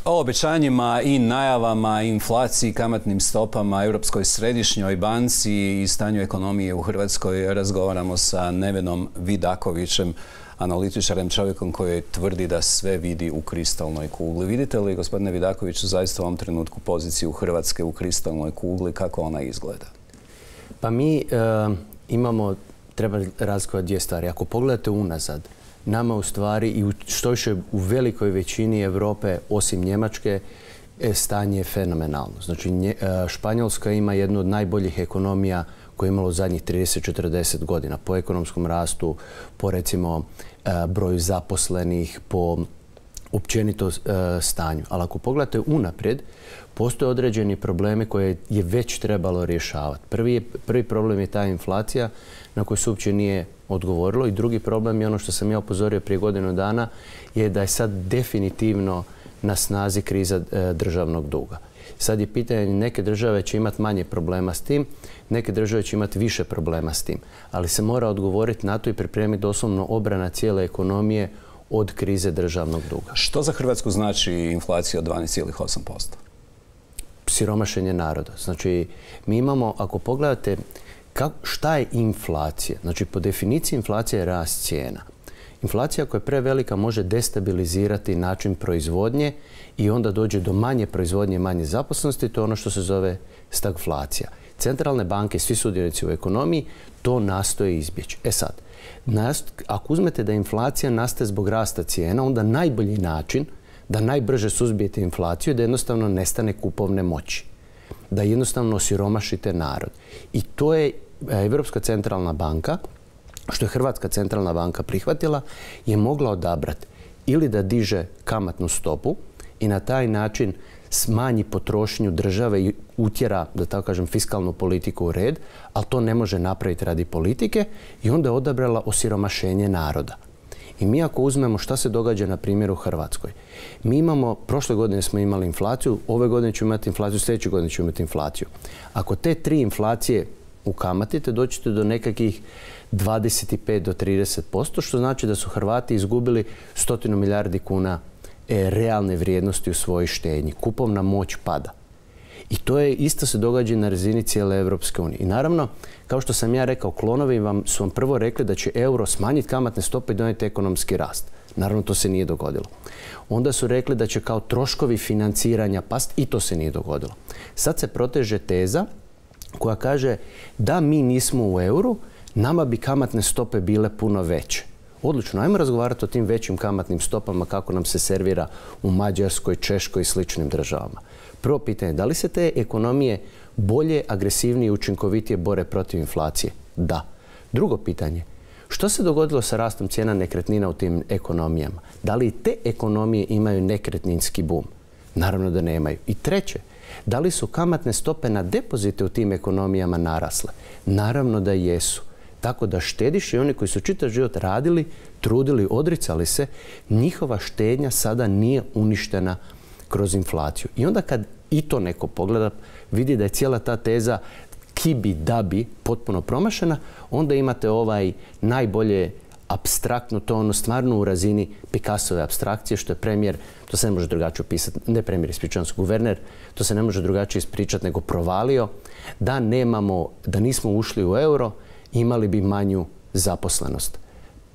O obećanjima i najavama, inflaciji, kamatnim stopama, Europskoj središnjoj banci i stanju ekonomije u Hrvatskoj razgovaramo sa Nevenom Vidakovićem, analitičarem, čovjekom koji tvrdi da sve vidi u kristalnoj kugli. Vidite li, gospodine Vidakoviću, zaista u ovom trenutku poziciju Hrvatske u kristalnoj kugli, kako ona izgleda? Pa mi treba razlikovati dvije stvari. Ako pogledate unazad, nama u stvari i što više u velikoj većini Europe, osim Njemačke, stanje je fenomenalno. Znači, Španjolska ima jednu od najboljih ekonomija koje je imalo u zadnjih 30-40 godina. Po ekonomskom rastu, po recimo broju zaposlenih, po općenito stanju. Ali ako pogledate unaprijed, postoje određeni problemi koje je već trebalo rješavati. Prvi problem je ta inflacija na koju se uopće nije odgovorilo i drugi problem je ono što sam ja upozorio prije godinu dana je da je sad definitivno na snazi kriza državnog duga. Sad je pitanje, neke države će imati manje problema s tim, neke države će imati više problema s tim. Ali se mora odgovoriti na to i pripremiti doslovno obrana cijele ekonomije od krize državnog duga. Što za Hrvatsku znači inflacija od 12,8%? Siromašenje naroda. Znači, mi imamo, ako pogledate šta je inflacija? Znači, po definiciji inflacija je rast cijena. Inflacija koja je prevelika može destabilizirati način proizvodnje i onda dođe do manje proizvodnje, manje zaposlenosti. To je ono što se zove stagflacija. Centralne banke, svi sudionici u ekonomiji, to nastoje izbjeći. E sad, ako uzmete da inflacija nastaje zbog rasta cijena, onda najbolji način da najbrže suzbijete inflaciju je da jednostavno nestane kupovne moći. Da jednostavno osiromašite narod. I to je Europska centralna banka, što je Hrvatska centralna banka prihvatila, je mogla odabrati ili da diže kamatnu stopu i na taj način smanji potrošnju države i utjera, da tako kažem, fiskalnu politiku u red, ali to ne može napraviti radi politike i onda je odabrala osiromašenje naroda. I mi ako uzmemo šta se događa na primjer u Hrvatskoj, mi imamo, prošle godine smo imali inflaciju, ove godine ćemo imati inflaciju, sljedeće godine ćemo imati inflaciju. Ako te tri inflacije ukamatite, doćete do nekakvih 25 do 30%, što znači da su Hrvati izgubili 100 milijardi kuna realne vrijednosti u svojoj štednji. Kupovna moć pada. I to je isto se događa na razini cijele Europske unije. I naravno, kao što sam ja rekao, klonovi su vam prvo rekli da će euro smanjiti kamatne stope i donijeti ekonomski rast. Naravno, to se nije dogodilo. Onda su rekli da će kao troškovi financiranja pasti i to se nije dogodilo. Sad se proteže teza koja kaže da mi nismo u euru, nama bi kamatne stope bile puno veće. Odlično, ajmo razgovarati o tim većim kamatnim stopama kako nam se servira u Mađarskoj, Češkoj i sličnim državama. Prvo pitanje, da li se te ekonomije bolje, agresivnije i učinkovitije bore protiv inflacije? Da. Drugo pitanje, što se dogodilo sa rastom cijena nekretnina u tim ekonomijama? Da li te ekonomije imaju nekretninski bum? Naravno da nemaju. I treće, da li su kamatne stope na depozite u tim ekonomijama narasle? Naravno da jesu. Tako da štediše i oni koji su čitav život radili, trudili, odricali se, njihova štednja sada nije uništena kroz inflaciju. I onda kad i to neko pogleda, vidi da je cijela ta teza kibi dabi potpuno promašena, onda imate ovaj najbolje apstraktno, to ono stvarno u razini Picassove apstrakcije, što je premijer, to se ne može drugačije opisati, ne premijer, ispričavam se, guverner, to se ne može drugačije ispričati nego provalio, da nismo ušli u euro, imali bi manju zaposlenost.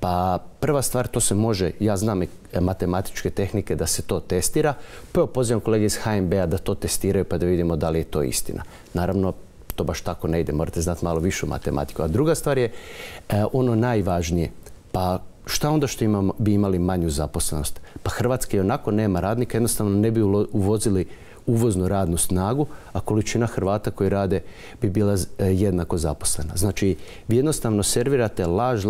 Pa prva stvar, to se može, ja znam matematičke tehnike da se to testira, pa pozivam kolege iz HNB-a da to testiraju pa da vidimo da li je to istina. Naravno, to baš tako ne ide, morate znati malo višu matematiku. A druga stvar je ono najvažnije, pa šta onda što bi imali manju zaposlenost? Pa Hrvatska i onako nema radnika, jednostavno ne bi uvozili uvoznu radnu snagu, a količina Hrvata koji rade bi bila jednako zaposlena. Znači, vi jednostavno servirate laž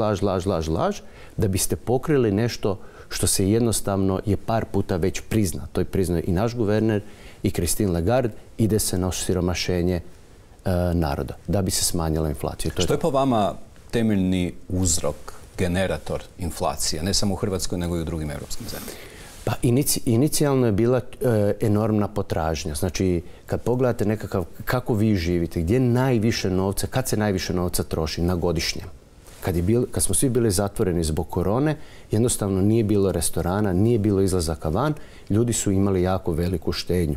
da biste pokrili nešto što se jednostavno je par puta već prizna. To je priznao i naš guverner i Christine Lagarde. Ide se na osiromašenje naroda da bi se smanjila inflacija. Što je po vama temeljni uzrok, generator inflacije, ne samo u Hrvatskoj nego i u drugim europskim zemljama? Pa inicijalno je bila enormna potražnja. Znači, kad pogledate kako vi živite, gdje najviše novca, kad se najviše novca troši na godišnjem? kad smo svi bili zatvoreni zbog korone, jednostavno nije bilo restorana, nije bilo izlazaka van, ljudi su imali jako veliku štednju.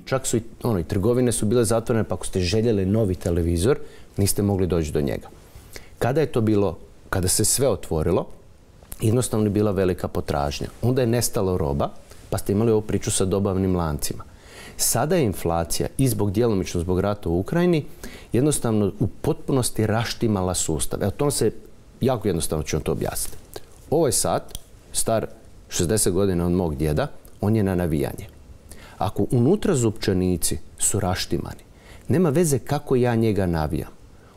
Čak su i trgovine su bile zatvorene, pa ako ste željeli novi televizor, niste mogli doći do njega. Kada je to bilo, kada se sve otvorilo, jednostavno je bila velika potražnja. Onda je nestalo roba, pa ste imali ovu priču sa dobavnim lancima. Sada je inflacija i djelomično zbog rata u Ukrajini jednostavno u potpunosti raštimala sustav. Evo, to se jako jednostavno ću vam to objasniti. Ovaj sat, star 60 godina od mog djeda, on je na navijanje. Ako unutra zupčanici su raštimani, nema veze kako ja njega navijam.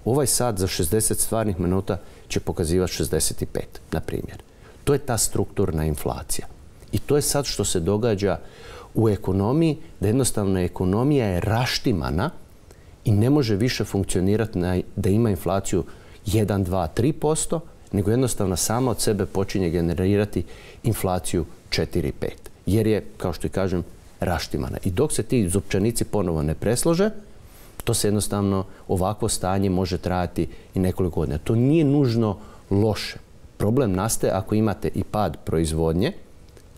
Ovaj sat za 60 stvarnih minuta će pokazivati 65, na primjer. To je ta strukturna inflacija. I to je sad što se događa u ekonomiji, da jednostavno ekonomija je raštimana i ne može više funkcionirati da ima inflaciju 1, 2, 3%, nego jednostavno sama od sebe počinje generirati inflaciju 4, 5. Jer je, kao što i kažem, raštimana. I dok se ti zupčanici ponovo ne preslože, to se jednostavno, ovakvo stanje može trajati i nekoliko godina. To nije nužno loše. Problem nastaje ako imate i pad proizvodnje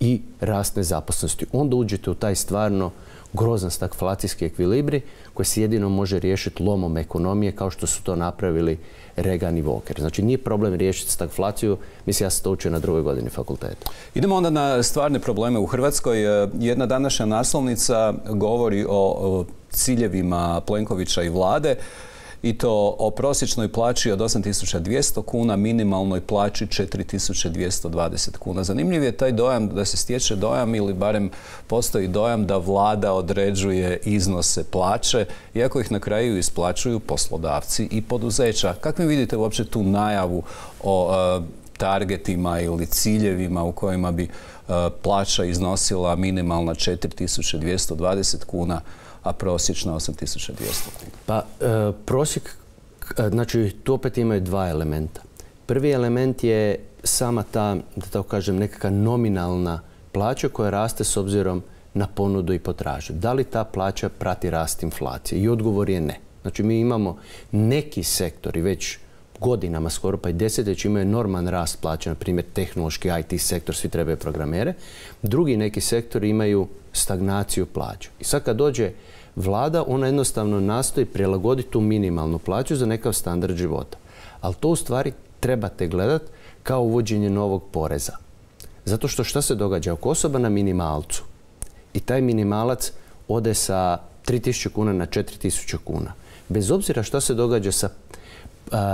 i rast nezaposlenosti. Onda uđete u taj stvarno grozan stagflacijski ekvilibri koji se jedino može riješiti lomom ekonomije kao što su to napravili Reagan i Walker. Znači nije problem riješiti stagflaciju, mislim ja sam to učio na 2. godini fakulteta. Idemo onda na stvarne probleme u Hrvatskoj. Jedna današnja naslovnica govori o ciljevima Plenkovića i vlade i to o prosječnoj plaći od 8.200 kuna, minimalnoj plaći 4.220 kuna. Zanimljiv je taj dojam, da se stječe dojam ili barem postoji dojam da vlada određuje iznose plaće, iako ih na kraju isplaćuju poslodavci i poduzeća. Kako vi vidite uopće tu najavu o targetima ili ciljevima u kojima bi plaća iznosila minimalna 4.220 kuna, a prosječna 8.200 kuna? Pa prosjek, znači tu opet imaju dva elementa. Prvi element je sama ta, da tako kažem, nekakva nominalna plaća koja raste s obzirom na ponudu i potražnju. Da li ta plaća prati rast inflacije? I odgovor je ne. Znači mi imamo neki sektori već godinama, skoro pa i desetljeća, imaju enorman rast plaća, na primjer tehnološki IT sektor, svi trebaju programere. Drugi neki sektori imaju stagnaciju plaća. I sad kad dođe vlada, ona jednostavno nastoji prilagoditi tu minimalnu plaću za nekakav standard života. Ali to u stvari trebate gledati kao uvođenje novog poreza. Zato što šta se događa? Ako osoba na minimalcu i taj minimalac ode sa 3.000 kuna na 4.000 kuna, bez obzira šta se događa sa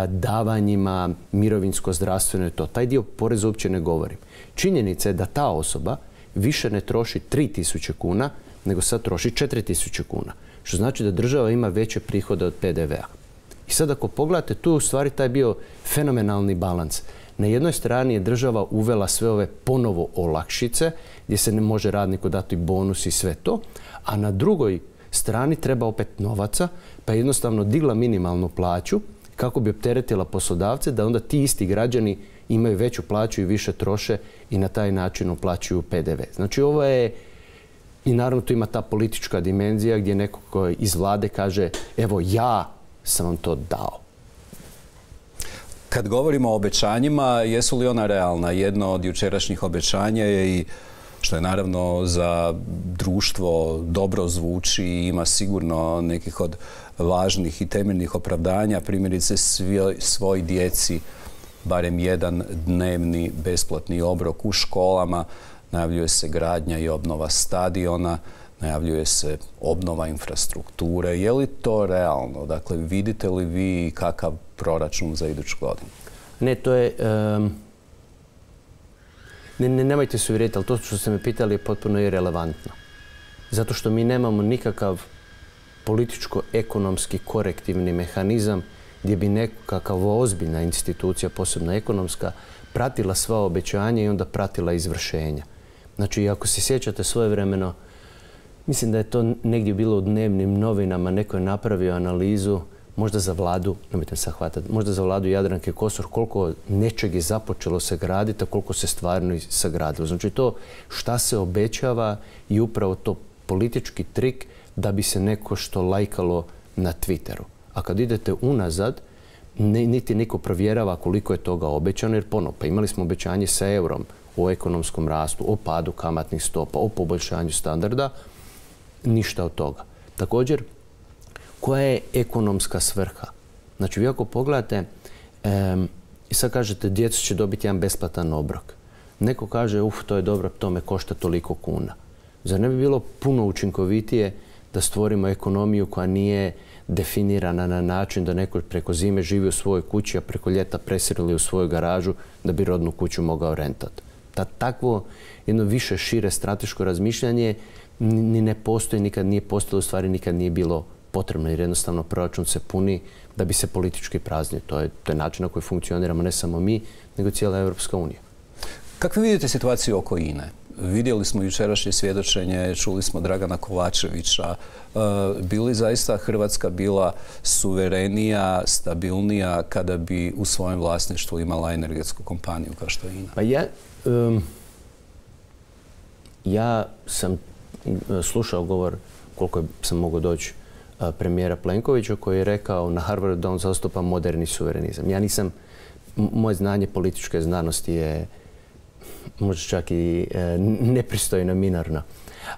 davanjima, mirovinsko, zdravstveno i to, taj dio poreza uopće ne govorim. Činjenica je da ta osoba više ne troši 3.000 kuna, nego sad troši 4.000 kuna. Što znači da država ima veće prihode od PDV-a. I sad ako pogledate, tu je u stvari taj bio fenomenalni balans. Na jednoj strani je država uvela sve ove ponovo olakšice, gdje se ne može radniku dati bonus i sve to, a na drugoj strani treba opet novaca, pa je jednostavno digla minimalnu plaću kako bi opteretila poslodavce da onda ti isti građani imaju veću plaću i više troše i na taj način uplaćuju PDV. Znači ovo je, i naravno tu ima ta politička dimenzija gdje neko koji iz vlade kaže evo ja sam vam to dao. Kad govorimo o obećanjima, jesu li ona realna? Jedno od jučerašnjih obećanja je i, što je naravno za društvo dobro zvuči i ima sigurno nekih od važnih i temeljnih opravdanja, primjerice svoj djeci barem jedan dnevni besplatni obrok u školama, najavljuje se gradnja i obnova stadiona, najavljuje se obnova infrastrukture. Je li to realno? Dakle, vidite li vi kakav proračun za iduću godinu? Ne, to je... Nemojte se uvjeriti, ali to što ste me pitali je potpuno irelevantno. Zato što mi nemamo nikakav političko-ekonomski korektivni mehanizam gdje bi nekakav ozbiljna institucija, posebno ekonomska, pratila sva obećanja i onda pratila izvršenja. Znači, ako se sjećate svojevremeno, mislim da je to negdje bilo u dnevnim novinama, neko je napravio analizu, možda za vladu, nemojte se hvatati, možda za vladu Jadranke Kosor, koliko nečeg je započelo se graditi, a koliko se stvarno sagradilo. Znači to šta se obećava i upravo to politički trik da bi se neko što lajkalo na Twitteru. A kad idete unazad, niti niko provjerava koliko je toga obećano, jer pa imali smo obećanje sa eurom o ekonomskom rastu, o padu kamatnih stopa, o poboljšanju standarda, ništa od toga. Također, koja je ekonomska svrha? Znači, vi ako pogledate i sad kažete djeca će dobiti jedan besplatan obrok. Neko kaže, to je dobro, to me košta toliko kuna. Zar ne bi bilo puno učinkovitije da stvorimo ekonomiju koja nije definirana na način da neko preko zime živi u svojoj kući, a preko ljeta preseli u svoju garažu da bi rodnu kuću mogao rentati. Takvo jedno više šire strateško razmišljanje ni ne postoji, nikad nije postojalo, u stvari nikad nije bilo potrebno, jer jednostavno proračun se puni da bi se politički praznio. To je način na koji funkcioniramo ne samo mi, nego cijela Europska unija. Kako vidite situaciju oko INA-e? Vidjeli smo jučerašnje svjedočenje, čuli smo Dragana Kovačevića. Bi li zaista Hrvatska bila suverenija, stabilnija kada bi u svojem vlasništvu imala energetsku kompaniju kao što je INA? Pa ja sam slušao govor, koliko sam mogao doći, premijera Plenkovića, koji je rekao na Harvardu da on zastupa moderni suverenizam. Ja nisam, moje znanje političke znanosti je možda čak i nepristojno, minorno.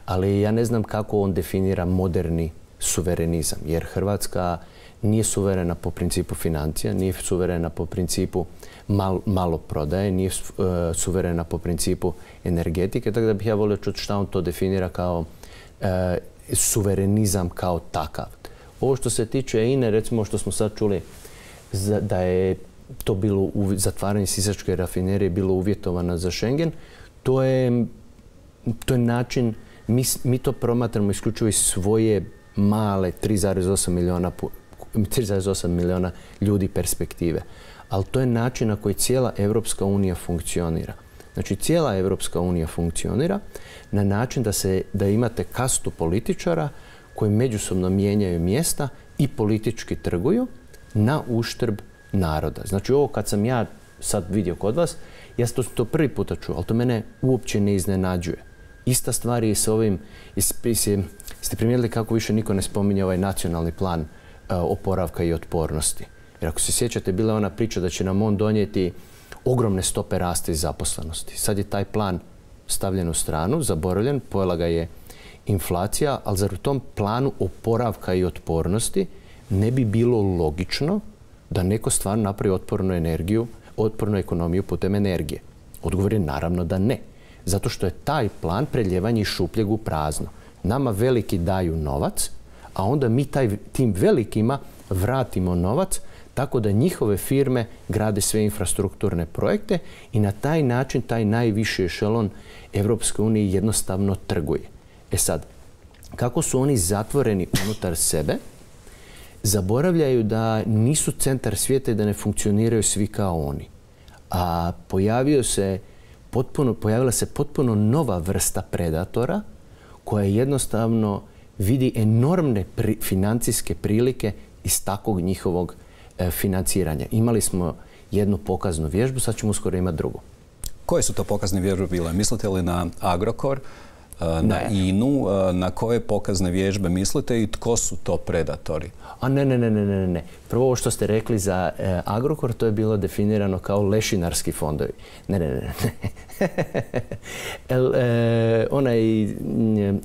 Ali ja ne znam kako on definira moderni suverenizam, jer Hrvatska nije suverena po principu financija, nije suverena po principu maloprodaje, nije suverena po principu energetike, tako da bih ja volio čuti šta on to definira kao suverenizam kao takav. Ovo što se tiče INA-e, recimo što smo sad čuli da je to bilo zatvaranje Sisačke rafinerije bilo uvjetovano za Schengen, to je način, mi to promatramo isključivo iz svoje male 3,8 milijuna ljudi perspektive. Ali to je način na koji cijela Europska unija funkcionira. Znači, cijela Europska unija funkcionira na način da imate kastu političara koji međusobno mijenjaju mjesta i politički trguju na uštrb naroda. Znači, ovo kad sam ja sad vidio kod vas, ja to prvi puta čuo, ali to mene uopće ne iznenađuje. Ista stvar je s ovim, ste primijetili kako više niko ne spominje ovaj nacionalni plan oporavka i otpornosti. Jer ako se sjećate, bila je ona priča da će nam on donijeti ogromne stope rasta i zaposlenosti. Sad je taj plan stavljen u stranu, zaboravljen, pojela ga je inflacija, ali zar u tom planu oporavka i otpornosti ne bi bilo logično da neko stvarno napravi otpornu ekonomiju putem energije? Odgovor je naravno da ne. Zato što je taj plan preljevanje iz šupljeg u prazno. Nama veliki daju novac, a onda mi tim velikima vratimo novac tako da njihove firme grade sve infrastrukturne projekte i na taj način taj najviši ešelon Europske unije jednostavno trguje. E sad, kako su oni zatvoreni unutar sebe, zaboravljaju da nisu centar svijeta i da ne funkcioniraju svi kao oni. A pojavila se potpuno nova vrsta predatora koja jednostavno vidi enormne financijske prilike iz takvog njihovog financiranja. Imali smo jednu pokaznu vježbu, sad ćemo uskoro imati drugu. Koje su to pokazne vježbe bile? Mislite li na Agrokor, na INA-u, na koje pokazne vježbe mislite i tko su to predatori? Ne. Prvo ovo što ste rekli za Agrokor, to je bilo definirano kao lešinarski fondovi. Ne.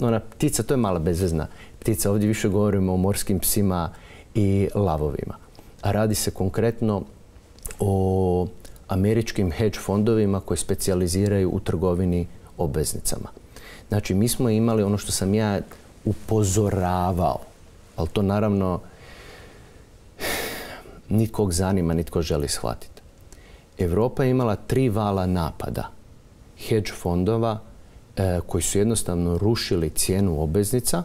Ona ptica, to je mala bezvezna ptica. Ovdje više govorimo o morskim psima i lavovima. A radi se konkretno o američkim hedge fondovima koji specijaliziraju u trgovini obveznicama. Znači, mi smo imali ono što sam ja upozoravao, ali to naravno nitkog zanima, nitko želi shvatiti. Europa je imala 3 vala napada hedge fondova koji su jednostavno rušili cijenu obveznica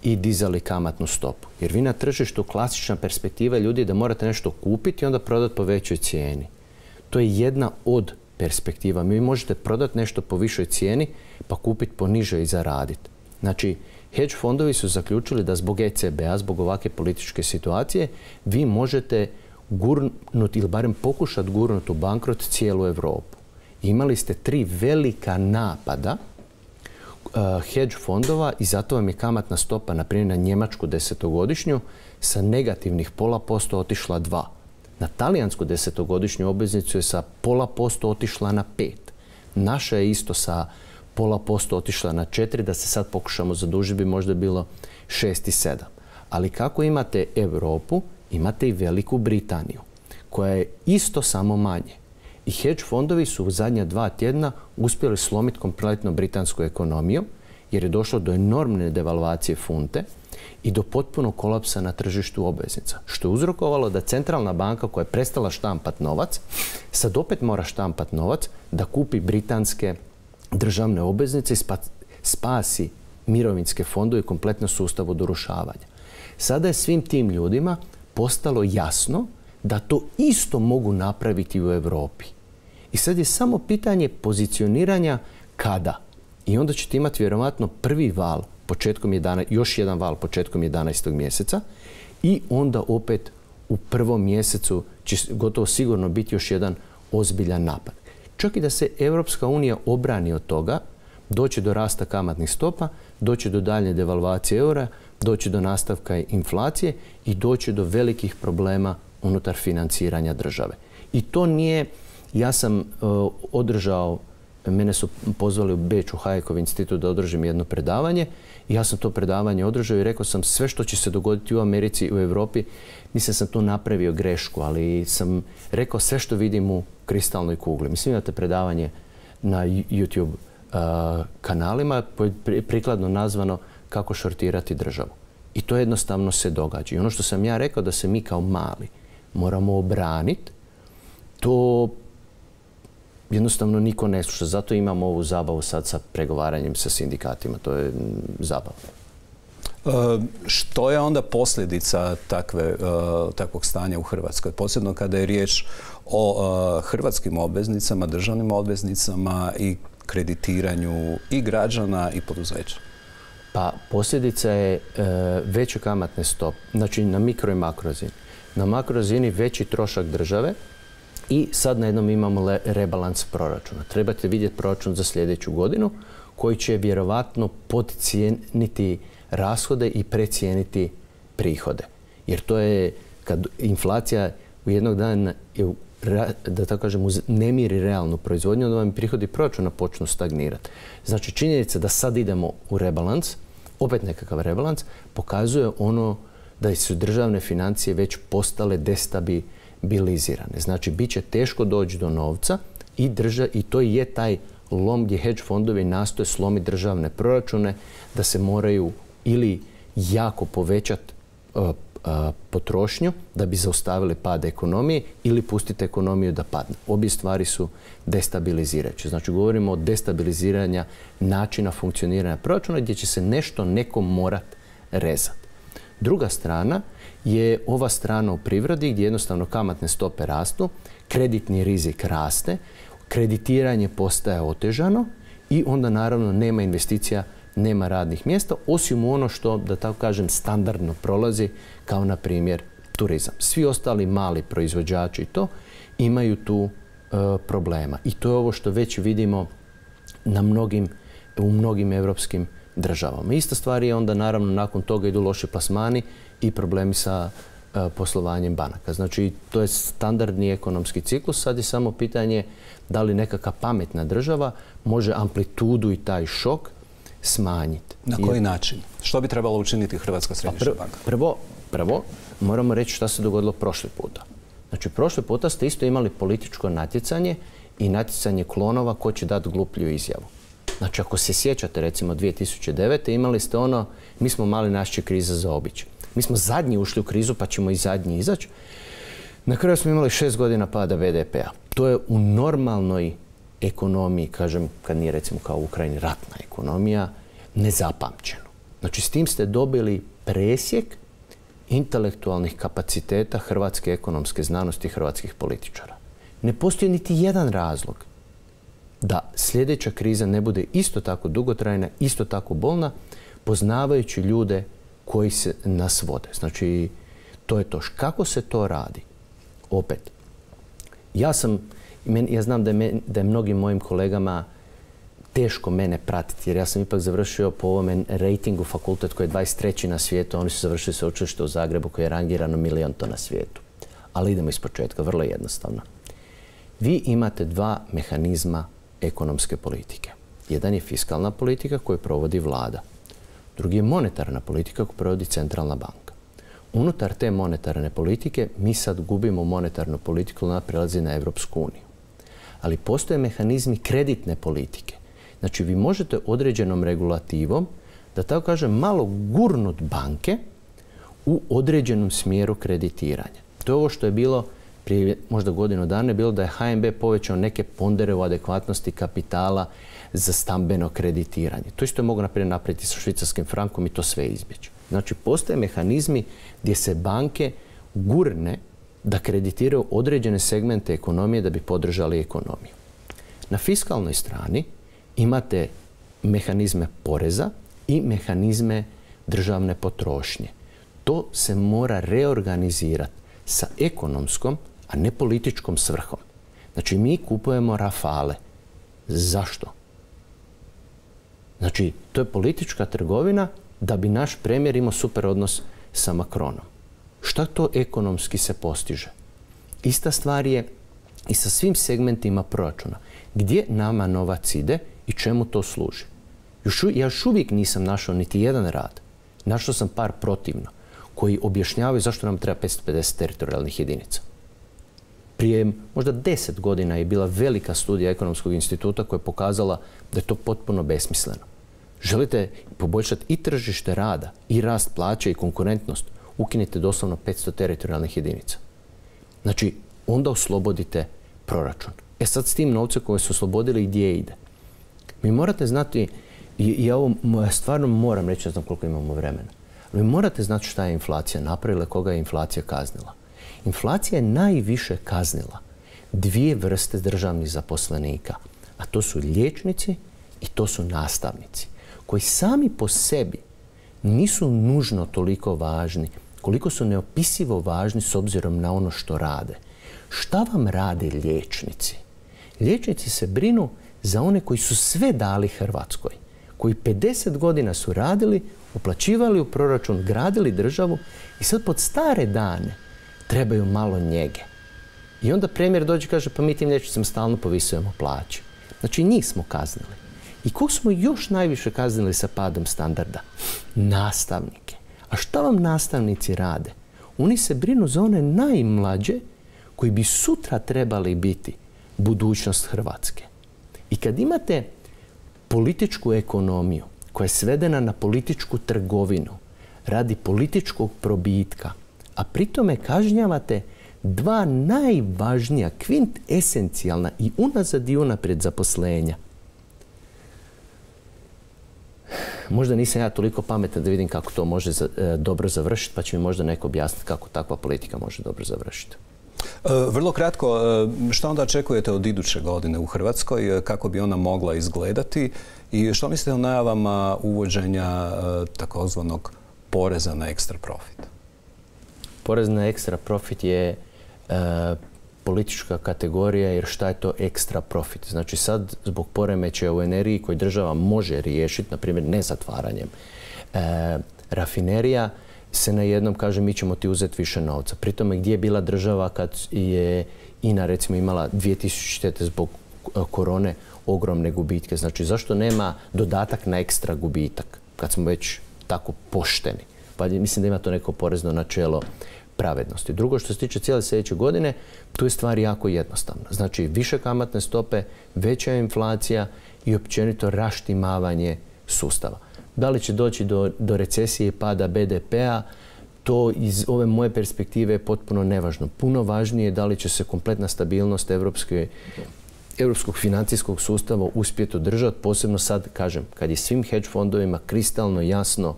i dizali kamatnu stopu. Jer vi na tržištu, klasična perspektiva ljudi je da morate nešto kupiti i onda prodati po većoj cijeni. To je jedna od perspektiva. Vi možete prodati nešto po višoj cijeni pa kupiti po nižoj i zaraditi. Znači, hedge fondovi su zaključili da zbog ECB-a, zbog ovakve političke situacije, vi možete gurnuti ili barem pokušati gurnuti u bankrot cijelu Europu. Imali ste 3 velika napada hedge fondova i zato vam je kamatna stopa, na primjer na njemačku 10-godišnju, sa negativnih 0,5% otišla 2. Na talijansku 10-godišnju obveznicu je sa 0,5% otišla na 5%. Naša je isto sa 0,5% otišla na 4%, da se sad pokušamo zadužiti bi možda bilo 6 i 7. Ali kako imate Europu, imate i Veliku Britaniju, koja je isto samo manje. I hedge fondovi su u zadnja 2 tjedna uspjeli slomiti kompletno britansku ekonomiju, jer je došlo do enormne devalvacije funte i do potpunog kolapsa na tržištu obveznica. Što je uzrokovalo da centralna banka koja je prestala štampat novac, sad opet mora štampat novac da kupi britanske državne obveznice i spasi mirovinske fondove i kompletno sustav od urušavanja. Sada je svim tim ljudima postalo jasno da to isto mogu napraviti u Europi. I sad je samo pitanje pozicioniranja kada. I onda ćete imati vjerovatno prvi val još jedan val početkom 11. mjeseca i onda opet u prvom mjesecu će gotovo sigurno biti još jedan ozbiljan napad. Čak i da se Europska unija obrani od toga, doći do rasta kamatnih stopa, doći do daljnje devalvacije eura, doći do nastavka inflacije i doći do velikih problema unutar financiranja države. I to nije, ja sam održao, mene su pozvali u Beč u Hayekov institut da održim jedno predavanje i ja sam to predavanje održao i rekao sam sve što će se dogoditi u Americi i u Europi, mislim sam tu napravio grešku, ali sam rekao sve što vidim u kristalnoj kugli. Mislim imate predavanje na YouTube kanalima, prikladno nazvano kako šortirati državu. I to jednostavno se događa. I ono što sam ja rekao da se mi kao mali moramo obraniti, to jednostavno niko ne sluša. Zato imamo ovu zabavu sad sa pregovaranjem sa sindikatima. To je zabava. Što je onda posljedica takvog stanja u Hrvatskoj? Posebno kada je riječ o hrvatskim obveznicama, državnim obveznicama i kreditiranju i građana i poduzeća? Pa posljedica je veće kamatne stope, znači na mikro i makro razini. Na makro razini veći trošak države i sad na jednom imamo rebalans proračuna. Trebate vidjeti proračun za sljedeću godinu koji će vjerovatno podcijeniti rashode i precijeniti prihode. Jer to je kad inflacija u jednog dana da tako kažem, nemiri realnu proizvodnju, onda vam prihodi proračuna počnu stagnirati. Znači, činjenica da sad idemo u rebalans, opet nekakav rebalans, pokazuje ono da su državne financije već postale destabilizirane. Znači, bit će teško doći do novca i to je taj lom gdje hedge fondovi nastoje slomiti državne proračune, da se moraju ili jako povećati potrošnju da bi zaustavili pad ekonomije ili pustiti ekonomiju da padne. Obje stvari su destabilizirajuće. Znači, govorimo o destabiliziranju načina funkcioniranja proračuna gdje će se nešto nekom morati rezati. Druga strana je ova strana u privredi gdje jednostavno kamatne stope rastu, kreditni rizik raste, kreditiranje postaje otežano i onda naravno nema investicija, nema radnih mjesta, osim ono što, da tako kažem, standardno prolazi, kao na primjer turizam. Svi ostali mali proizvođači imaju tu problema. I to je ovo što već vidimo u mnogim europskim državama. Ista stvar je onda naravno nakon toga idu loši plasmani i problemi sa poslovanjem banaka. Znači, to je standardni ekonomski ciklus. Sad je samo pitanje da li nekakva pametna država može amplitudu i taj šok smanjiti. Na koji način? Što bi trebalo učiniti Hrvatska središnja banka? Prvo, moramo reći šta se dogodilo prošli puta. Znači, prošli puta ste isto imali političko natjecanje i natjecanje klonova ko će dati gluplju izjavu. Znači, ako se sjećate, recimo 2009. imali ste mi smo mali, nas će kriza zaobići. Mi smo zadnji ušli u krizu pa ćemo i zadnji izaći. Na kraju smo imali 6 godina pada BDP-a. To je u normalnoj ekonomiji, kažem, kad nije recimo kao u Ukrajini ratna ekonomija, nezapamćeno. Znači, s tim ste dobili presjek intelektualnih kapaciteta hrvatske ekonomske znanosti i hrvatskih političara. Ne postoji niti jedan razlog da sljedeća kriza ne bude isto tako dugotrajna, isto tako bolna, poznavajući ljude koji se nas vode. Znači, to je to. Kako se to radi? Opet, ja znam da je mnogim mojim kolegama teško mene pratiti, jer ja sam ipak završio po ovome rejtingu fakultet koji je 23. na svijetu, a oni su završili sveučilište u Zagrebu koji je rangirano 1.000. na svijetu. Ali idemo iz početka, vrlo jednostavno. Vi imate dva mehanizma ekonomske politike. Jedan je fiskalna politika koju provodi vlada. Drugi je monetarna politika koju provodi centralna banka. Unutar te monetarne politike mi sad gubimo monetarnu politiku, ona prelazi na Europsku uniju. Ali postoje mehanizmi kreditne politike. Znači vi možete određenom regulativom, da tako kažem, malo gurnut banke u određenom smjeru kreditiranja. To je ovo što je bilo prije možda godinu dana, bilo da je HNB povećao neke pondere u adekvatnosti kapitala za stambeno kreditiranje. To isto je mogu napraviti sa švicarskim frankom i to sve izbjeći. Znači, postoje mehanizmi gdje se banke gurne da kreditiraju određene segmente ekonomije da bi podržali ekonomiju. Na fiskalnoj strani imate mehanizme poreza i mehanizme državne potrošnje. To se mora reorganizirati sa ekonomskom, a ne političkom svrhom. Znači, mi kupujemo Rafale. Zašto? Znači, to je politička trgovina da bi naš premijer imao super odnos sa Macronom. Šta to ekonomski se postiže? Ista stvar je i sa svim segmentima proračuna. Gdje nama novac ide i čemu to služi? Ja još uvijek nisam našao niti jedan rad. Našao sam par protivno koji objašnjavaju zašto nam treba 550 teritorijalnih jedinica. Prije možda 10 godina je bila velika studija Ekonomskog instituta koja je pokazala da je to potpuno besmisleno. Želite poboljšati i tržište rada, i rast plaće, i konkurentnost, ukinite doslovno 500 teritorijalnih jedinica. Znači, onda oslobodite proračun. Sad s tim novcem koje su oslobodili gdje ide? Mi morate znati, i ja ovo stvarno moram reći, ne znam koliko imamo vremena, ali morate znati šta je inflacija napravila, koga je inflacija kaznila. Inflacija je najviše kaznila dvije vrste državnih zaposlenika, a to su liječnici i to su nastavnici, koji sami po sebi nisu nužno toliko važni koliko su neopisivo važni s obzirom na ono što rade. Šta vam rade liječnici? Liječnici se brinu za one koji su sve dali Hrvatskoj, koji 50 godina su radili, uplaćivali u proračun, gradili državu i sad pod stare dane trebaju malo njege. I onda premijer dođe i kaže, pa mi tim liječnicima stalno povisujemo plaće. Znači, njih smo kaznili. I kog smo još najviše kaznili sa padom standarda? Nastavnike. A šta vam nastavnici rade? Oni se brinu za one najmlađe koji bi sutra trebali biti budućnost Hrvatske. I kad imate političku ekonomiju koja je svedena na političku trgovinu radi političkog probitka, a pritome kažnjavate dva najvažnija, kvintesencijalna i unazad i unaprijed zaposlenja. Možda nisam ja toliko pametan da vidim kako to može dobro završiti, pa će mi možda neko objasniti kako takva politika može dobro završiti. Vrlo kratko, što onda očekujete od iduće godine u Hrvatskoj, kako bi ona mogla izgledati i što mislite o najavama uvođenja takozvanog poreza na ekstra profit? Porez na ekstra profit je politička kategorija, jer šta je to ekstra profit? Znači sad zbog poremećaja u energiji koji država može riješiti, na primjer ne zatvaranjem rafinerija, se na jednom kaže mi ćemo ti uzeti više novca. Pri tome gdje je bila država kad je INA recimo imala 2000 zbog korone ogromne gubitke. Znači zašto nema dodatak na ekstra gubitak kad smo već tako pošteni? Pa mislim da ima to neko porezno načelo pravednosti. Drugo, što se tiče cijele sljedeće godine, tu je stvar jako jednostavna. Znači više kamatne stope, veća inflacija i općenito raštimavanje sustava. Da li će doći do recesije i pada BDP-a, to iz ove moje perspektive je potpuno nevažno. Puno važnije je da li će se kompletna stabilnost europskog financijskog sustava uspjeti održati, posebno sad, kažem, kad je svim hedge fondovima kristalno jasno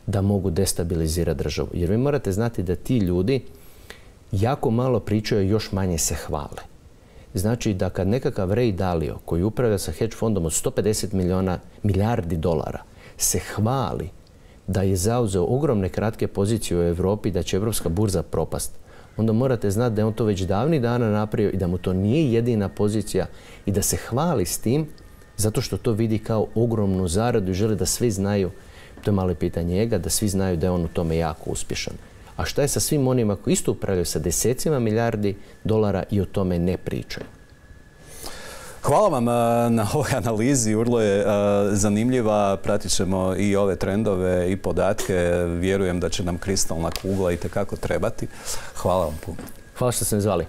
da mogu destabilizirati državu. Jer vi morate znati da ti ljudi jako malo pričaju, još manje se hvale. Znači da kad nekakav Ray Dalio, koji upravlja sa hedge fondom od 150 milijardi dolara, se hvali da je zauzeo ogromne kratke pozicije u Europi, da će Europska burza propast, onda morate znati da je on to već davnih dana napravio i da mu to nije jedina pozicija i da se hvali s tim zato što to vidi kao ogromnu zaradu i želi da svi znaju, to je malo pitanje njega, da svi znaju da je on u tome jako uspješan. A šta je sa svim onima koji isto upravljaju sa desecima milijardi dolara i o tome ne pričaju? Hvala vam na ovoj analizi, vrlo je zanimljiva, pratit ćemo i ove trendove i podatke, vjerujem da će nam kristalna kugla itekako trebati. Hvala vam puno. Hvala što ste me zvali.